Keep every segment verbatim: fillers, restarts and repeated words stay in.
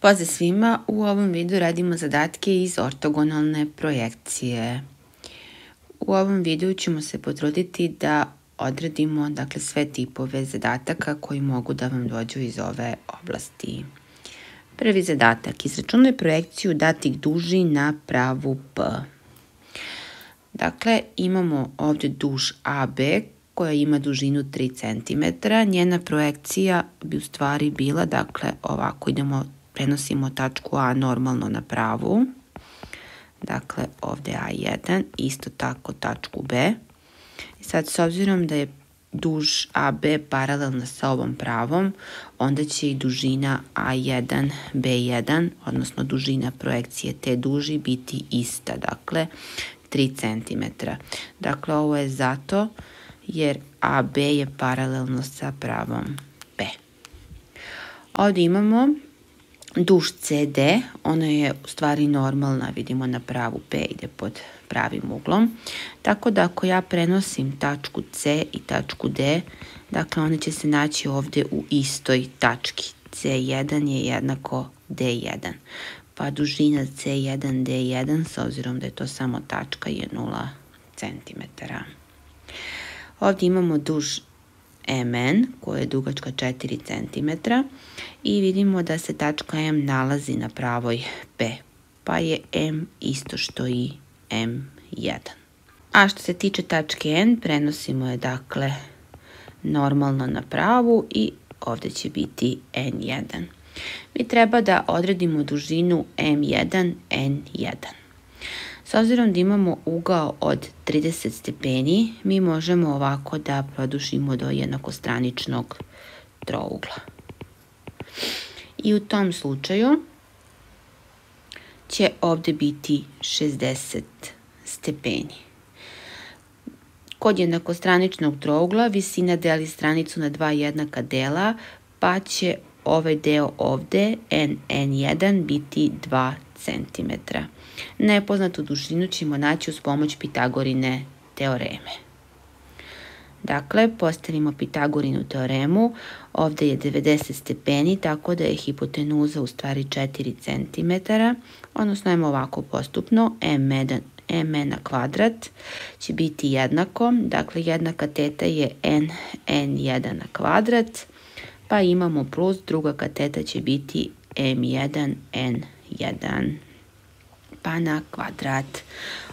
Pozdrav svima, u ovom videu radimo zadatke iz ortogonalne projekcije. U ovom videu ćemo se potruditi da odradimo dakle, sve tipove zadataka koji mogu da vam dođu iz ove oblasti. Prvi zadatak, izračunaj projekciju datih duži na pravu P. Dakle, imamo ovdje duž A B koja ima dužinu tri centimetra. Njena projekcija bi u stvari bila, dakle, ovako idemo, prenosimo tačku A normalno na pravu. Dakle, ovdje A jedan, isto tako tačku B. I sad, s obzirom da je duž A B paralelna sa ovom pravom, onda će i dužina A jedan B jedan, odnosno dužina projekcije te duži biti ista, dakle, tri centimetra. Dakle, ovo je zato jer A B je paralelno sa pravom B. Ovdje imamo duž C D, ona je u stvari normalna, vidimo na pravu P, ide pod pravim uglom. Tako da ako ja prenosim tačku C i tačku D, dakle one će se naći ovdje u istoj tački. C jedan je jednako D jedan. Pa dužina C jedan D jedan, s obzirom da je to samo tačka, je nula centimetara. Ovdje imamo duž M N koja je dugačka četiri centimetra i vidimo da se tačka M nalazi na pravoj P, pa je M isto što i M jedan. A što se tiče tačke N, prenosimo je dakle normalno na pravu i ovdje će biti N jedan. Mi treba da odredimo dužinu M jedan N jedan. S obzirom da imamo ugao od trideset stepeni, mi možemo ovako da produžimo do jednakostraničnog trougla. I u tom slučaju će ovdje biti šezdeset stepeni. Kod jednakostraničnog trougla visina deli stranicu na dva jednaka dela, pa će ovaj deo ovdje, N N jedan, biti dva centimetra. Nepoznatu dužinu ćemo naći uz pomoć Pitagorine teoreme. Dakle, postavimo Pitagorinu teoremu. Ovdje je devedeset stepeni, tako da je hipotenuza u stvari četiri centimetra. Odnosno, ajmo ovako postupno. M jedan, M N na kvadrat će biti jednako. Dakle, jednaka teta je N N jedan na kvadrat. Pa imamo plus, druga kateta će biti M jedan N jedan. Pa na kvadrat,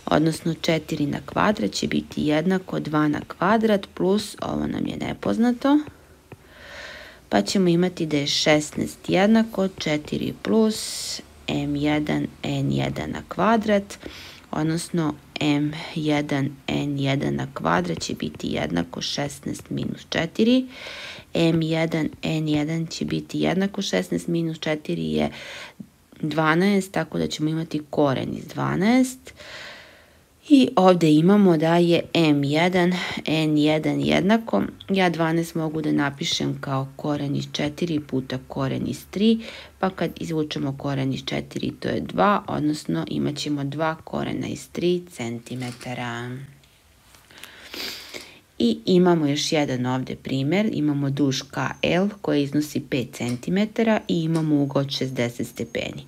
odnosno četiri na kvadrat će biti jednako dva na kvadrat plus, ovo nam je nepoznato, pa ćemo imati da je šesnaest jednako četiri plus M jedan N jedan na kvadrat, odnosno M jedan N jedan na kvadrat će biti jednako šesnaest minus četiri. M jedan N jedan će biti jednako šesnaest minus četiri je dvanaest, tako da ćemo imati koren iz dvanaest. I ovdje imamo da je M jedan N jedan jednako. Ja dvanaest mogu da napišem kao koren iz četiri puta koren iz tri, pa kad izvučemo koren iz četiri to je dva, odnosno imat ćemo dva korena iz tri centimetara. I imamo još jedan ovdje primjer, imamo duž K L koji iznosi pet centimetara i imamo ugao od šezdeset stepeni.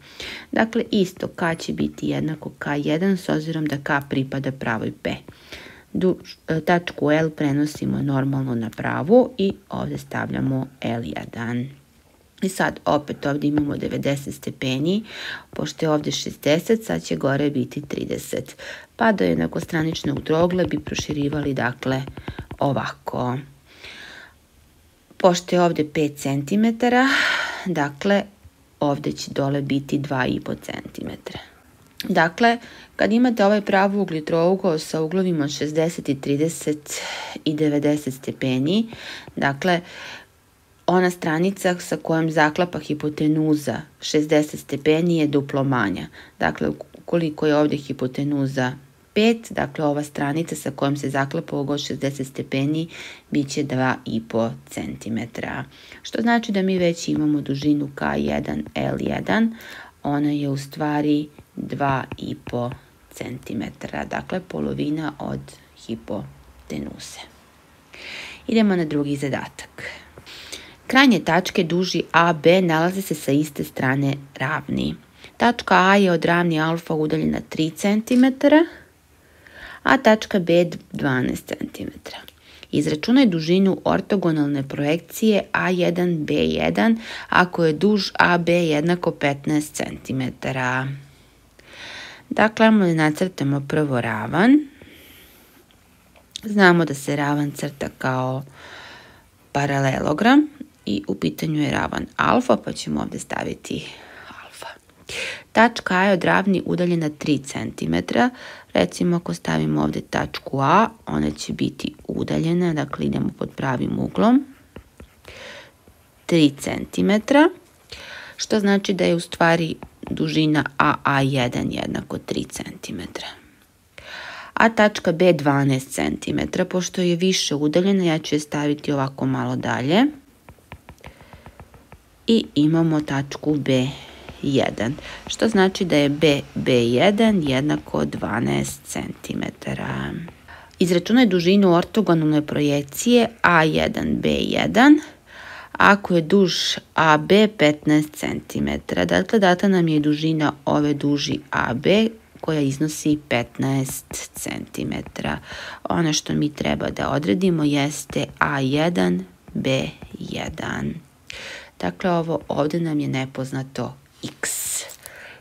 Dakle, isto K će biti jednako K jedan s obzirom da K pripada pravoj P. Duž, tačku L prenosimo normalno na pravu i ovdje stavljamo L jedan. I sad opet ovdje imamo devedeset stepeni, pošto je ovdje šezdeset, sad će gore biti trideset. Pa do jednakostraničnog trougla bi proširivali dakle ovako. Pošto je ovdje pet centimetara, dakle ovdje će dole biti dva i po centimetra. Dakle, kad imate ovaj pravouglji trougao sa uglovima od šezdeset, trideset i devedeset stepeni, dakle ona stranica sa kojom zaklapa hipotenuza šezdeset stepeni je duplo manja. Dakle, ukoliko je ovdje hipotenuza pet, dakle ova stranica sa kojom se zaklapa ugao šezdeset stepeni bit će dva i po centimetra. Što znači da mi već imamo dužinu K jedan L jedan, ona je u stvari dva i po centimetra, dakle polovina od hipotenuze. Idemo na drugi zadatak. Krajnje tačke duži A B nalaze se sa iste strane ravni. Tačka A je od ravni alfa udaljena tri centimetra, a tačka B dvanaest centimetara. Izračunaj dužinu ortogonalne projekcije A jedan B jedan ako je duž A B jednako petnaest centimetara. Dakle, ajmo da nacrtamo prvo ravan. Znamo da se ravan crta kao paralelogram i u pitanju je ravan alfa, pa ćemo ovdje staviti alfa. Tačka A je od ravni udaljena tri centimetra. Recimo ako stavimo ovdje tačku A, ona će biti udaljena, dakle idemo pod pravim uglom, tri centimetra, što znači da je u stvari dužina A A jedan jednako tri centimetra. A tačka B dvanaest centimetara, pošto je više udaljena, ja ću je staviti ovako malo dalje. I imamo tačku B jedan, što znači da je B B jedan jednako dvanaest centimetara. Izračunaj dužinu ortogonalne projekcije A jedan B jedan ako je duž A B petnaest centimetara. Dakle, data nam je dužina ove duži A B koja iznosi petnaest centimetara. Ono što mi treba da odredimo jeste A jedan B jedan. Dakle, ovo ovdje nam je nepoznato x.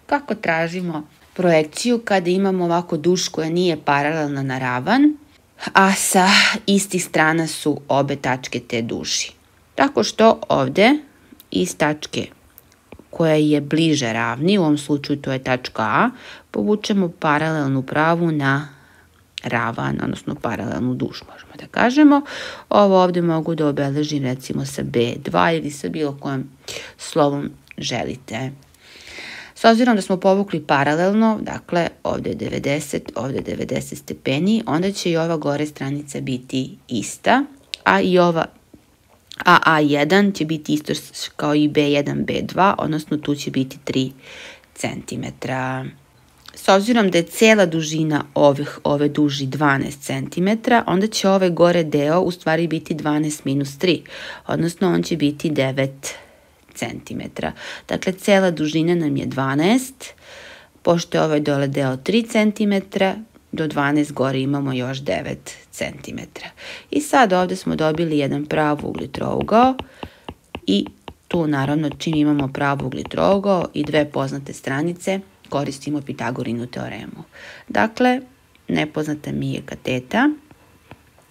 Kako tražimo projekciju kada imamo ovako duž koja nije paralelna na ravan, a sa istih strana su obe tačke te duži? Tako što ovdje iz tačke koja je bliže ravni, u ovom slučaju to je tačka A, povučemo paralelnu pravu na ravan, odnosno paralelnu duž, možemo da kažemo. Ovo ovdje mogu da obeležim recimo sa B dva ili sa bilo kojim slovom želite. S obzirom da smo povukli paralelno, dakle ovdje je devedeset, ovdje je devedeset stepeni, onda će i ova gore stranica biti ista, a i ova A A jedan će biti isto kao i B jedan B dva, odnosno tu će biti tri centimetra. S obzirom da je cijela dužina ovih, ove duži dvanaest centimetara, onda će ovaj gore deo u stvari biti dvanaest minus tri, odnosno on će biti devet centimetara. Dakle, cijela dužina nam je dvanaest, pošto je ovaj dole deo tri centimetra, do dvanaest gore imamo još devet centimetara. I sad ovdje smo dobili jedan pravugli trougao i tu naravno čim imamo pravugli trougao i dve poznate stranice koristimo Pitagorinu teoremu. Dakle, nepoznata mi je kateta,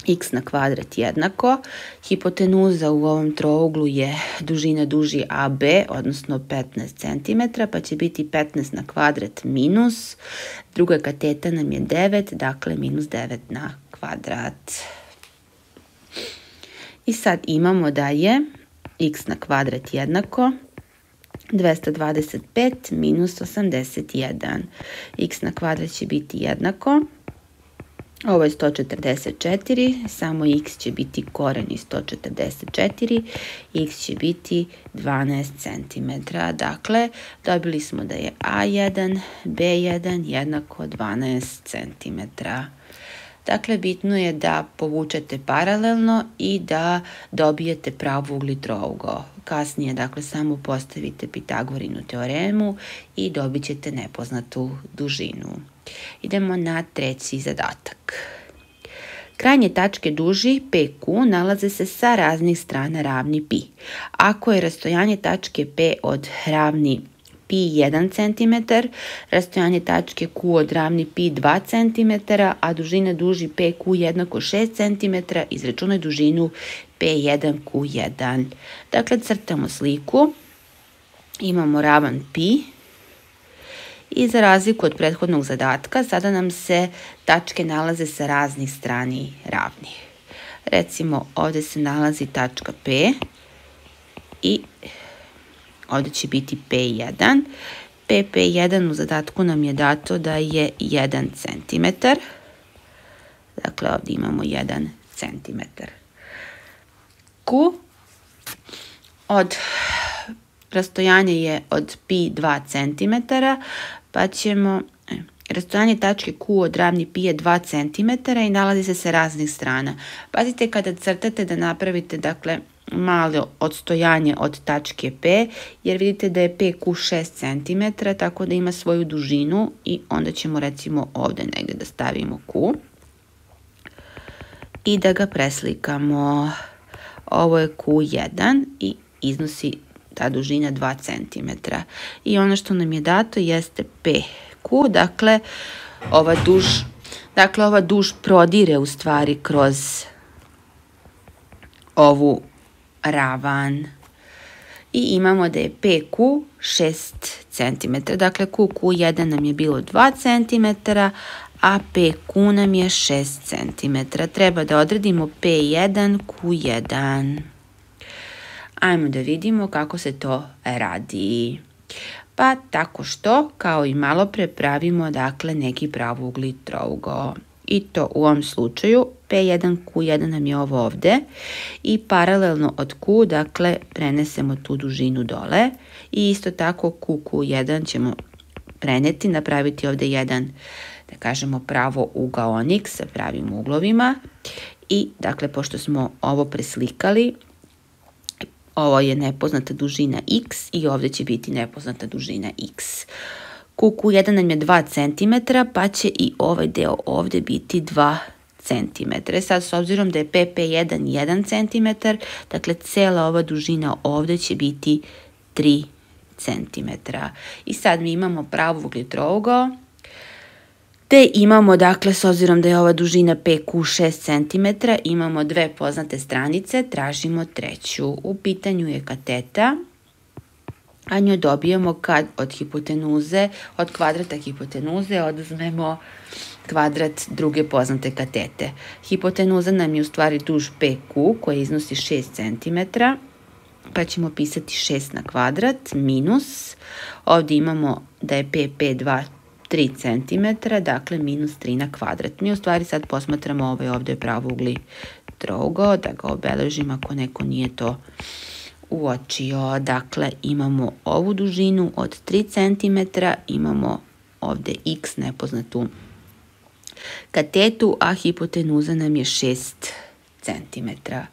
x na kvadrat jednako, hipotenuza u ovom trouglu je dužina duži A B, odnosno petnaest centimetara, pa će biti petnaest na kvadrat minus, druga kateta nam je devet, dakle minus devet na kvadrat. I sad imamo da je x na kvadrat jednako dvesta dvadeset pet minus osamdeset jedan. X na kvadrat će biti jednako, ovo je sto četrdeset četiri, samo x će biti koren iz sto četrdeset četiri, x će biti dvanaest centimetara. Dakle, dobili smo da je A jedan B jedan jednako dvanaest centimetara. Dakle, bitno je da povučete paralelno i da dobijete pravugli trougao. Kasnije, dakle, samo postavite Pitagorinu teoremu i dobit ćete nepoznatu dužinu. Idemo na treći zadatak. Krajnje tačke duži P Q nalaze se sa raznih strana ravni pi. Ako je rastojanje tačke P od ravni pi jedan centimetar, rastojanje tačke Q od ravni pi dva centimetra, a dužina duži P Q jednako šest centimetara, izračunaj dužinu P jedan Q jedan. Dakle, crtamo sliku, imamo ravan pi i za razliku od prethodnog zadatka, sada nam se tačke nalaze sa raznih strani ravni. Recimo, ovdje se nalazi tačka P i ovdje će biti P jedan. P P jedan u zadatku nam je dato da je jedan centimetar. Dakle, ovdje imamo jedan centimetar. Q od rastojanje je od pi dva centimetara, pa ćemo, e, rastojanje tačke Q od ravni pi je dva centimetra i nalazi se sa raznih strana. Pazite kada crtate da napravite, dakle, malo odstojanje od tačke P, jer vidite da je P Q šest centimetara, tako da ima svoju dužinu i onda ćemo recimo ovde negde da stavimo Q i da ga preslikamo. Ovo je Q jedan i iznosi ta dužina dva centimetra. I ono što nam je dato jeste P Q, dakle ova duž, dakle ova duž prodire u stvari kroz ovu ravan. I imamo da je P Q šest centimetara. Dakle, Q Q jedan nam je bilo dva centimetra, a P Q nam je šest centimetara. Treba da odredimo P jedan, Q jedan. Ajmo da vidimo kako se to radi. Pa tako što, kao i malo pre, pravimo dakle neki pravougli trougao. I to u ovom slučaju P jedan, Q jedan nam je ovo ovde i paralelno od Q, dakle, prenesemo tu dužinu dole i isto tako Q Q jedan ćemo preneti, napraviti ovde jedan, da kažemo, pravougaonik sa pravim uglovima i, dakle, pošto smo ovo preslikali, ovo je nepoznata dužina x i ovde će biti nepoznata dužina x. Q Q jedan nam je dva centimetra, pa će i ovaj deo ovde biti dva centimetra. Sad, s obzirom da je P P jedan jedan centimetar, dakle, cela ova dužina ovde će biti tri centimetra. I sad mi imamo pravougli trougao, te imamo, dakle, s obzirom da je ova dužina P Q šest centimetara, imamo dve poznate stranice, tražimo treću. U pitanju je kateta, a nju dobijemo kad od hipotenuze, od kvadrata hipotenuze oduzmemo kvadrat druge poznate katete. Hipotenuza nam je u stvari duž P Q koja iznosi šest centimetara, pa ćemo pisati šest na kvadrat minus, ovdje imamo da je P P dva tri centimetra, dakle minus tri na kvadrat. Mi u stvari sad posmatramo ovaj ovdje pravougli trougao, da ga obeležim ako neko nije to uočio. Dakle, imamo ovu dužinu od tri centimetra, imamo ovdje x nepoznatu katetu, a hipotenuza nam je šest centimetara.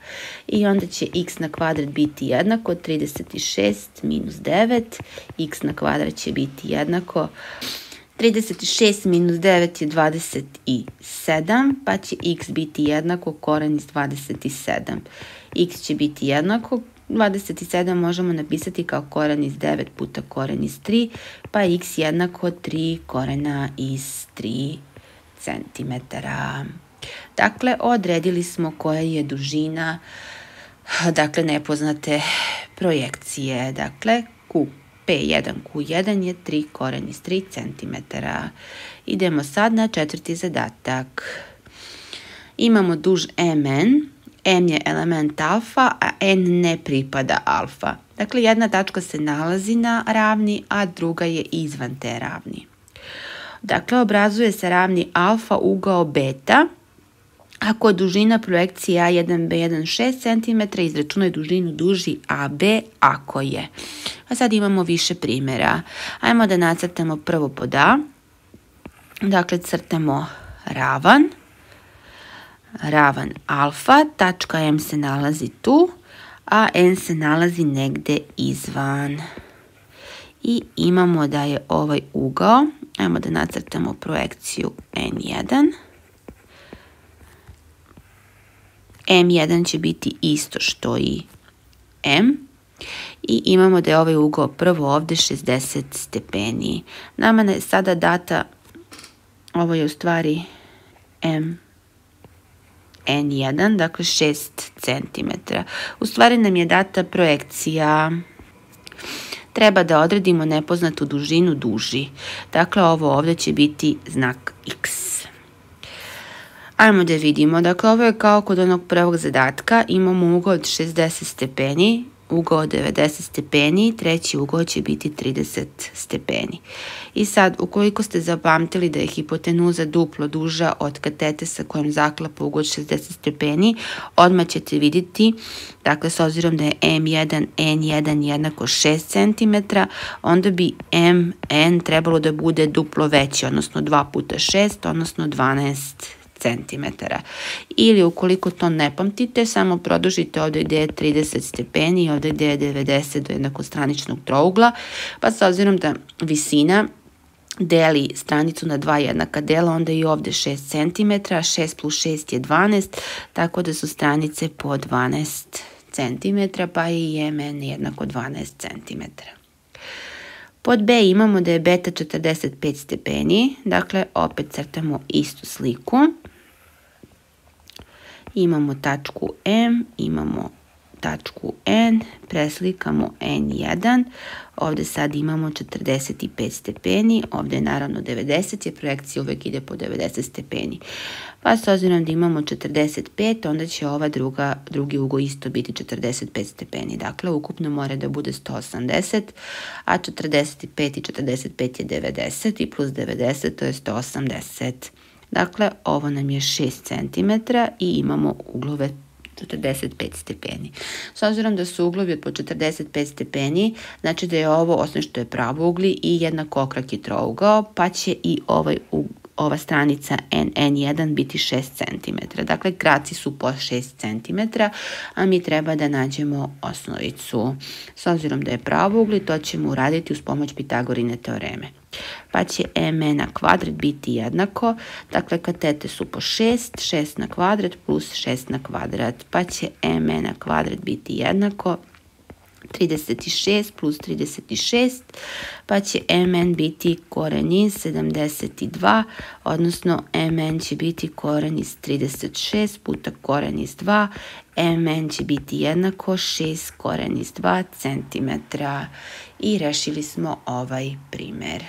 I onda će x na kvadrat biti jednako trideset šest minus devet, x na kvadrat će biti jednako trideset šest minus devet je dvadeset sedam, pa će x biti jednako koren iz dvadeset sedam. X će biti jednako, dvadeset sedam možemo napisati kao koren iz devet puta koren iz tri, pa x jednako tri korena iz tri centimetara. Dakle, odredili smo koja je dužina, dakle, nepoznate projekcije. Dakle, Q, P jedan Q jedan je tri koren iz tri centimetara. Idemo sad na četvrti zadatak. Imamo duž M N, M je element alfa, a N ne pripada alfa. Dakle, jedna tačka se nalazi na ravni, a druga je izvan te ravni. Dakle, obrazuje se ravni alfa ugao beta. Ako je dužina projekcije A jedan B jedan šest centimetara, izračunaj dužinu duži A B ako je. A sad imamo više primjera. Ajmo da nacrtamo prvo pod A. Dakle, crtamo ravan. Ravan alfa, tačka M se nalazi tu, a N se nalazi negde izvan. I imamo da je ovaj ugao, ajmo da nacrtamo projekciju N jedan. M jedan će biti isto što i M. I imamo da je ovaj ugao prvo ovde šezdeset stepeni. Nama je sada data, ovo je u stvari M N jedan, dakle šest centimetara. U stvari nam je data projekcija. Treba da odredimo nepoznatu dužinu duži. Dakle, ovo ovdje će biti znak X. Ajmo da vidimo. Dakle, ovo je kao kod onog prvog zadatka. Imamo ugao od šezdeset stepeni, ugao od devedeset stepeni, treći ugao će biti trideset stepeni. I sad, ukoliko ste zapamtili da je hipotenuza duplo duža od katete sa kojom zaklapa ugao od šezdeset stepeni, odmah ćete vidjeti, dakle, s obzirom da je M jedan, N jedan jednako šest centimetara, onda bi M N trebalo da bude duplo veći, odnosno dva puta šest, odnosno dvanaest centimetara. Ili ukoliko to ne pamtite, samo produžite ovdje gdje je trideset stepeni i ovdje gdje je devedeset do jednakostraničnog trougla, pa s obzirom da visina deli stranicu na dva jednaka dela, onda i ovdje šest centimetara, šest plus šest je dvanaest, tako da su stranice po dvanaest centimetara, pa je i M N jednako dvanaest centimetara. Pod B imamo da je beta četrdeset pet stepeni, dakle opet crtamo istu sliku. Imamo tačku M, imamo tačku N, preslikamo N jedan, ovdje sad imamo četrdeset pet stepeni, ovdje je naravno devedeset, jer projekcija uvijek ide po devedeset stepeni. Pa s obzirom da imamo četrdeset pet, onda će ova druga, drugi ugao isto biti četrdeset pet stepeni. Dakle, ukupno mora da bude sto osamdeset, a četrdeset pet i četrdeset pet je devedeset i plus devedeset, to je sto osamdeset. Dakle, ovo nam je šest centimetara i imamo uglove četrdeset pet stepeni. S obzirom da su uglovi od po četrdeset pet stepeni, znači da je ovo, osim što je pravougli, i jednakokraki trougao, pa će i ovaj, ova stranica N N jedan biti šest centimetara. Dakle, kraci su po šest centimetara, a mi treba da nađemo osnovicu. S obzirom da je pravougli, to ćemo uraditi uz pomoć Pitagorine teoreme. Pa će M N na kvadrat biti jednako, dakle katete su po šest, šest na kvadrat plus šest na kvadrat, pa će M N na kvadrat biti jednako trideset šest plus trideset šest, pa će M N biti koren iz sedamdeset dva, odnosno M N će biti koren iz trideset šest puta koren iz dva, M N će biti jednako šest koren iz dva centimetra. I rešili smo ovaj primer.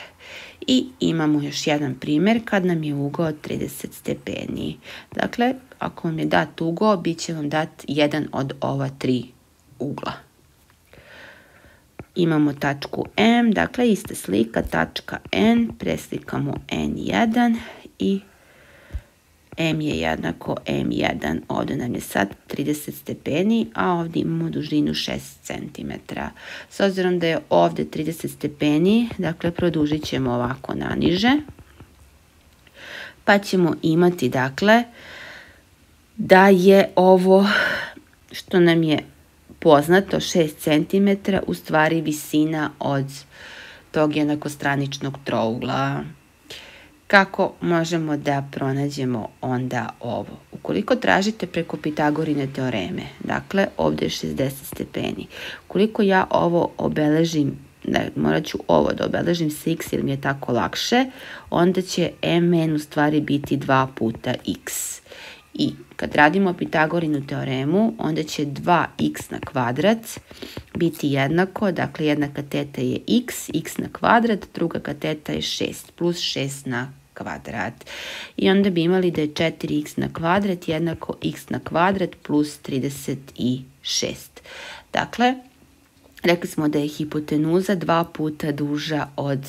I imamo još jedan primer kad nam je ugao trideset stepeni. Dakle, ako vam je dat ugao, bit će vam dat jedan od ova tri ugla. Imamo tačku M, dakle ista slika, tačka N, preslikamo N jedan i M je jednako M jedan, ovdje nam je sad trideset stepeni, a ovdje imamo dužinu šest centimetara. S obzirom da je ovdje trideset stepeni, dakle produžit ćemo ovako naniže, pa ćemo imati dakle da je ovo što nam je poznato šest centimetara u stvari visina od tog jednakostraničnog trougla. Kako možemo da pronađemo onda ovo? Ukoliko tražite preko Pitagorine teoreme, dakle ovdje je šezdeset stepeni, ukoliko ja ovo obeležim, ne, morat ću ovo da obeležim sa x jer mi je tako lakše, onda će M N u stvari biti dva puta x. I kad radimo Pitagorinu teoremu, onda će dva x na kvadrat biti jednako, dakle jedna kateta je x, x na kvadrat, druga kateta je šest, plus šest na kvadrat. I onda bi imali da je četiri x na kvadrat jednako x na kvadrat plus trideset šest. Dakle, rekli smo da je hipotenuza dva puta duža od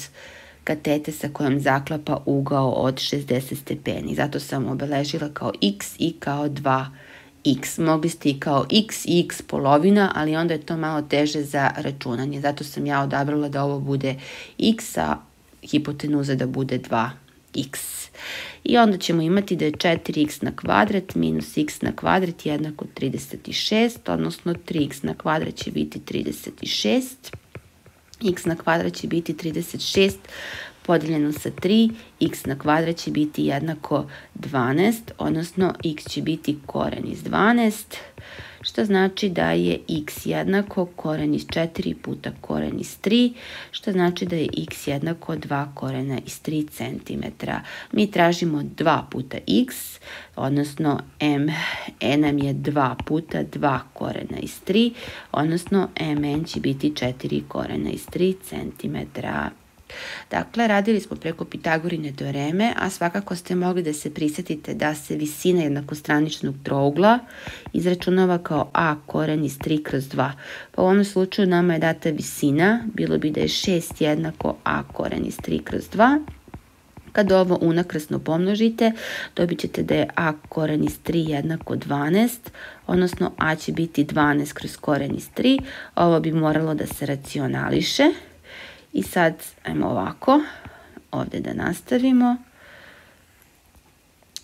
katete sa kojom zaklapa ugao od šezdeset stepeni. Zato sam obeležila kao x i kao dva x. Mogli ste i kao x i x polovina, ali onda je to malo teže za računanje. Zato sam ja odabrala da ovo bude x, a hipotenuza da bude dva x. I onda ćemo imati da je četiri x na kvadrat minus x na kvadrat jednako trideset šest, odnosno tri x na kvadrat će biti trideset šest. X na kvadrat će biti trideset šest podijeljeno sa tri, x na kvadrat će biti jednako dvanaest, odnosno x će biti koren iz dvanaest, što znači da je x jednako koren iz četiri puta koren iz tri, što znači da je x jednako dva korena iz tri centimetra. Mi tražimo dva puta x, odnosno m n nam je dva puta dva korena iz tri, odnosno mn će biti četiri korena iz tri centimetra. Dakle, radili smo preko Pitagorine teoreme, a svakako ste mogli da se prisjetite da se visina jednakostraničnog trougla izračunava kao a koren iz tri kroz dva. Pa u ovom slučaju nama je data visina, bilo bi da je šest jednako a koren iz tri kroz dva. Kad ovo unakrasno pomnožite, dobit ćete da je a koren iz tri jednako dvanaest, odnosno a će biti dvanaest kroz koren iz tri. Ovo bi moralo da se racionališe. I sad, ajmo ovako, ovdje da nastavimo.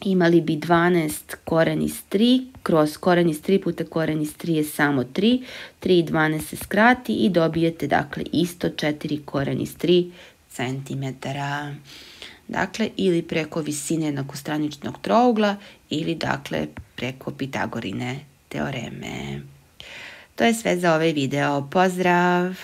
imali bi dvanaest koren iz tri, kroz koren iz tri puta koren iz tri je samo tri, tri i dvanaest se skrati i dobijete dakle isto četiri koren iz tri centimetara. Dakle, ili preko visine jednakostraničnog trougla ili dakle preko Pitagorine teoreme. To je sve za ovaj video. Pozdrav!